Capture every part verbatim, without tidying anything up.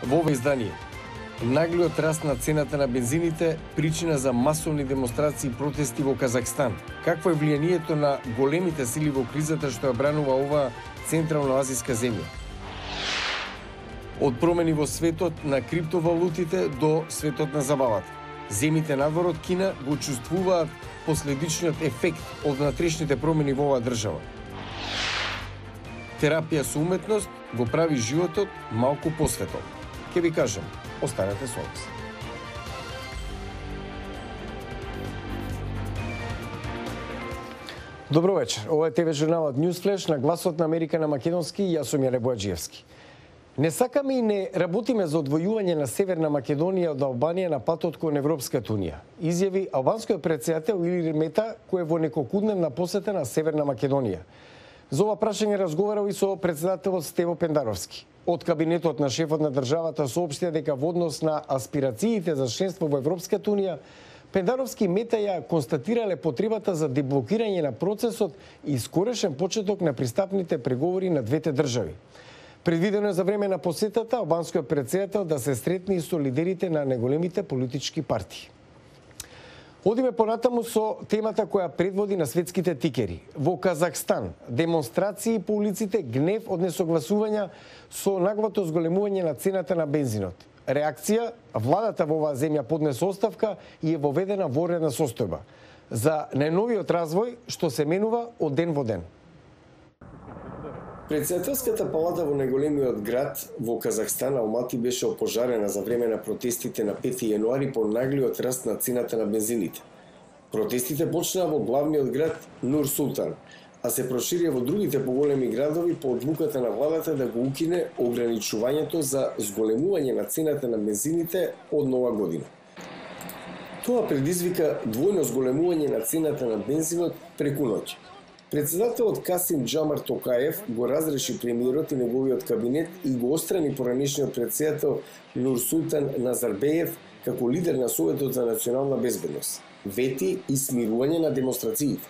Во ова издание, наглиот раст на цената на бензините причина за масовни демонстрации и протести во Казахстан. Какво е влијанието на големите сили во кризата што ја бранува оваа централно-азиска земја? Од промени во светот на криптовалутите до светот на забавата. Земите надвор од Кина го чувствуваат последичниот ефект од внатрешните промени во оваа држава. Терапија со уметност го прави животот малку посветол. Ке ви кажам, останете со нас. Добро вечер. Ова е ТВ журналот Newsflash на гласот на Америка на македонски и јас сум Јаре Бојаджиевски. Не сакаме и не работиме за одвојување на Северна Македонија од Албанија на патот кон Европската унија, изјави албанскиот председател Илир Мета, кој е во неколкудневна посета на Северна Македонија. За ова прашање разговарал и со председателот Стево Пендаровски. Од кабинетот на шефот на државата соопштија дека во однос на аспирациите за членство во Европската унија, Пендаровски и Мета ја констатирале потребата за деблокирање на процесот и скорешен почеток на пристапните преговори на двете држави. Предвидено е за време на посетата албанскиот председател да се сретне и со лидерите на неголемите политички партии. Одиме понатаму со темата која предводи на светските тикери. Во Казахстан демонстрации по улиците, гнев од несогласувања со наглото зголемување на цената на бензинот. Реакција, владата во оваа земја поднесе оставка и е воведена воредна состојба за најновиот развој што се менува од ден во ден. Председателската палата во најголемиот град во Казахстан, Алмати, беше опожарена за време на протестите на пети јануари по наглиот раст на цената на бензините. Протестите почнаа во главниот град Нур Султан, а се проширија во другите поголеми градови по одлуката на владата да го укине ограничувањето за зголемување на цената на бензините од нова година. Тоа предизвика двојно зголемување на цената на бензинот преку ноќ. Председателот Касим Джамар Токаев го разреши премиерот и неговиот кабинет и го острани поранешниот председател Нур Султан Назарбеев како лидер на Советот за национална безбедност. Вети и смирување на демонстрациите.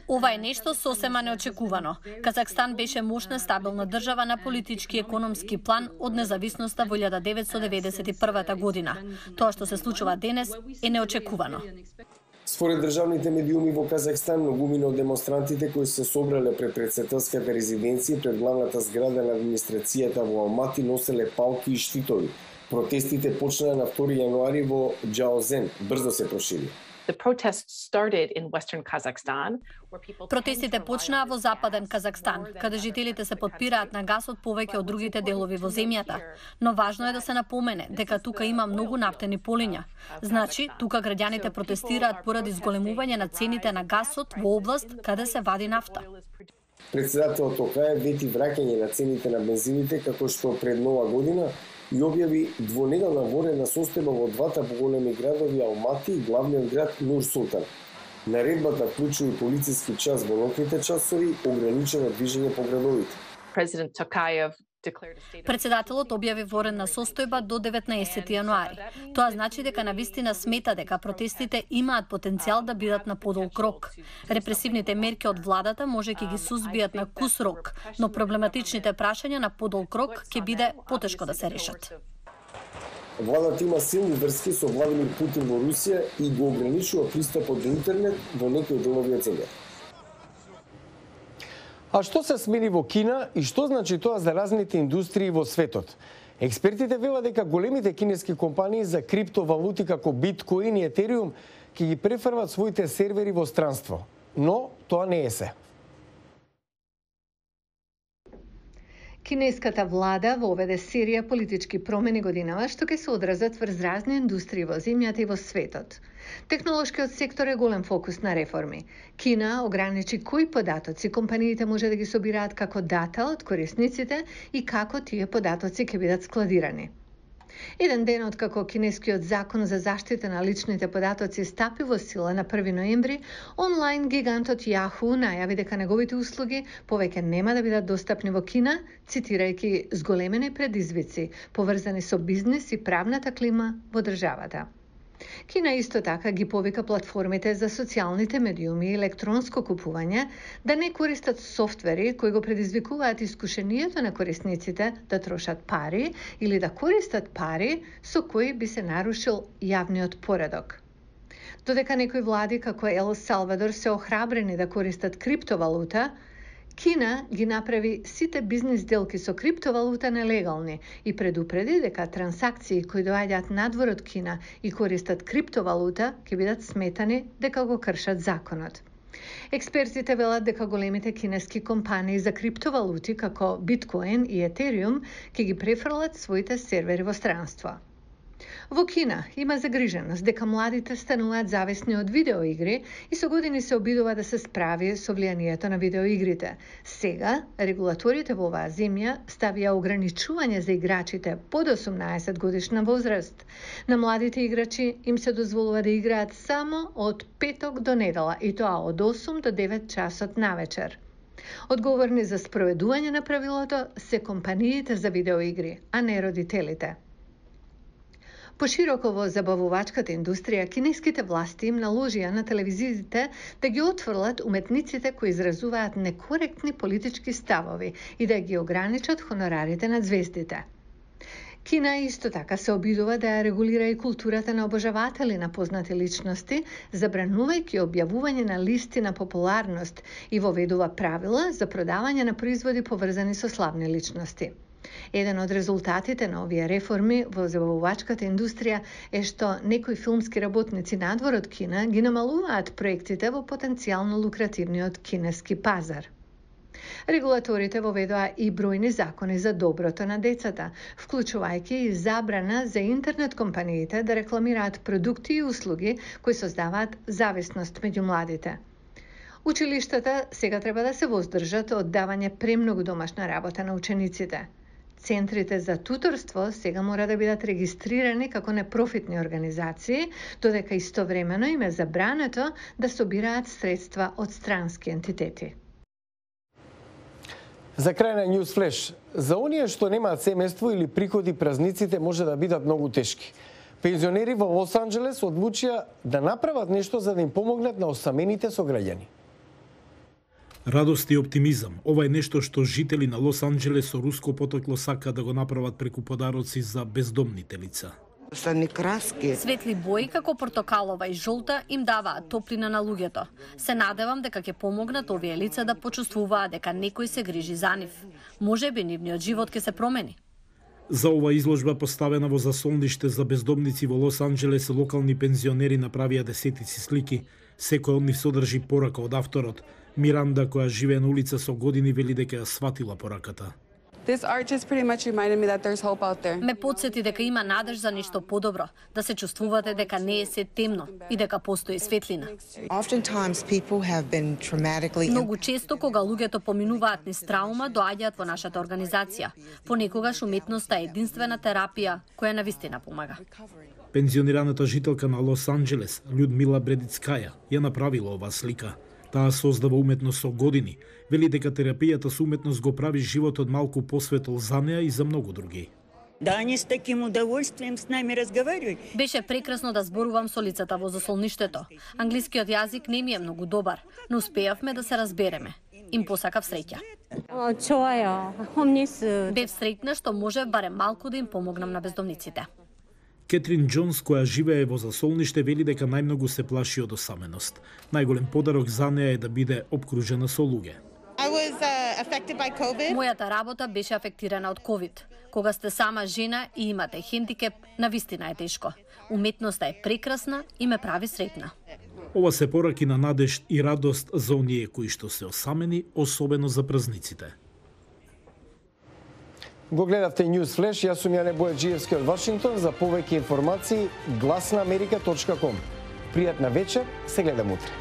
Ова е нешто сосема неочекувано. Казахстан беше мощна стабилна држава на политички и економски план од независноста во илјада деветстотини деветдесет и прва година. Тоа што се случува денес е неочекувано. Според државните медиуми во Казахстан, многумина од демонстрантите кои се собрале пред председателската резиденција пред главната зграда на администрацијата во Алмати носеле палки и штитови. Протестите почнаа на втори јануари во Џаозен, брзо се прошири. Протестите почнаа во западен Казахстан, каде жителите се потпираат на гасот повеќе од другите делови во земјата. Но важно е да се напомене дека тука има многу нафтени полиња. Значи, тука граѓаните протестираат поради зголемување на цените на гасот во област каде се вади нафта. Председателот Токаев вети враќање на цените на бензините како што пред нова година и објави двонеделна воредна состојба во двата поголеми градови Алмати и главниот град Нур Султан. Наредбата вклучува и полициски час во ноќните часови, ограничено движење по градовите. Председателот објави воредна состојба до деветнаесети јануари. Тоа значи дека навистина смета дека протестите имаат потенцијал да бидат на подолг рок. Репресивните мерки од владата може ќе ги сузбијат на кус рок, но проблематичните прашања на подолг рок ќе биде потешко да се решат. Владата има силни врски со Владимир Путин во Русија и го ограничува пристапот до интернет во некои делови од земјата. А што се смени во Кина и што значи тоа за разните индустрии во светот? Експертите велат дека големите кинески компании за криптовалути како биткоин и етериум ќе ги префрват своите сервери во странство. Но тоа не е се. Кинеската влада воведе серија политички промени годинава што ќе се одразат врз разни индустрии во земјата и во светот. Технолошкиот сектор е голем фокус на реформи. Кина ограничи кои податоци компаниите може да ги собираат како дата од корисниците и како тие податоци ќе бидат складирани. Еден ден откако кинескиот закон за заштита на личните податоци стапи во сила на први ноември, онлайн гигантот Yahoo најави дека неговите услуги повеќе нема да бидат достапни во Кина, цитирајќи зголемени предизвици поврзани со бизнес и правната клима во државата. Кина исто така ги повика платформите за социјалните медиуми и електронско купување да не користат софтвери кои го предизвикуваат искушението на корисниците да трошат пари или да користат пари со кои би се нарушил јавниот поредок. Додека некои влади како Ел Салвадор се охрабрени да користат криптовалута, Кина ги направи сите бизнис делки со криптовалута нелегални и предупреди дека трансакции кои доаѓаат надвор од Кина и користат криптовалута ќе бидат сметани дека го кршат законот. Експертите велат дека големите кинески компании за криптовалути како Биткоин и Етериум ќе ги префрлат своите сервери во странство. Во Кина има загриженост дека младите стануваат зависни од видеоигри и со години се обидува да се справи со влијанието на видеоигрите. Сега, регулаторите во оваа земја ставија ограничување за играчите под осумнаесет годишна возраст. На младите играчи им се дозволува да играат само од петок до недела и тоа од осум до девет часот навечер. Одговорни за спроведување на правилото се компаниите за видеоигри, а не родителите. Пошироко во забавувачката индустрија, кинеските власти им наложија на телевизиите да ги отфрлат уметниците кои изразуваат некоректни политички ставови и да ги ограничат хонорарите на звездите. Кина исто така се обидува да ја регулира и културата на обожаватели на познати личности, забранувајќи објавување на листи на популарност и воведува правила за продавање на производи поврзани со славни личности. Еден од резултатите на овие реформи во забавувачката индустрија е што некои филмски работници надвор од Кина ги намалуваат проектите во потенцијално лукративниот кинески пазар. Регулаторите воведоа и бројни закони за доброто на децата, вклучувајќи и забрана за интернет компаниите да рекламираат продукти и услуги кои создаваат зависност меѓу младите. Училиштата сега треба да се воздржат од давање премногу домашна работа на учениците. Центрите за туторство сега мора да бидат регистрирани како непрофитни организации, додека истовремено им е забрането да собираат средства од странски ентитети. За крај на News Flash, за оние што немаат семејство или приходи, празниците може да бидат многу тешки. Пензионери во Лос Анџелес одлучија да направат нешто за да им помогнат на осамените сограѓани. Радост и оптимизам. Ова е нешто што жители на Лос Анџелес со руско потекло сакаат да го направат преку подароци за бездомните лица. Светли бои како портокалова и жолта им даваат топлина на луѓето. Се надевам дека ќе помогнат овие лица да почувствуваат дека некој се грижи за нив. Можеби нивниот живот ќе се промени. За ова изложба поставена во засолниште за бездомници во Лос Анџелес, локални пензионери направија десетици слики. Секој од нив содржи порака од авторот. Миранда, која живее на улица со години, вели дека ја сватила пораката. Ме потсети дека има надеж за нешто подобро, да се чувствувате дека не е се темно и дека постои светлина. Многу често кога луѓето поминуваат низ траума, доаѓаат во нашата организација. Понекогаш уметноста е единствена терапија која навистина помага. Пензионираната жителка на Лос Анџелес, Људмила Бредицкаја, ја направила оваа слика. Таа создава уметност со години. Вели дека терапијата со уметност го прави животот малку посветол за неа и за многу други. Да, они с таким удовольствием с нами разговаривают. Беше прекрасно да зборувам со лицата во засолништето. Англискиот јазик не ми е многу добар, но успеавме да се разбереме. Им посакав среќа. Бев среќна што можев барем малку да им помогнам на бездомниците. Кетрин Џонс, која живее во засолниште, вели дека најмногу се плаши од осаменост. Најголем подарок за неа е да биде обкружена со луѓе. Мојата работа беше афектирана од ковид. Кога сте сама жена и имате хендикеп, навистина е тешко. Уметноста е прекрасна и ме прави среќна. Ова се пораки на надеж и радост за оние кои што се осамени, особено за празниците. Го гледавте News Flash, јас сум Јане Бојаджиевски од Вашингтон. За повеќе информации гласна америка точка ком. Пријатна вечер, се гледам утре.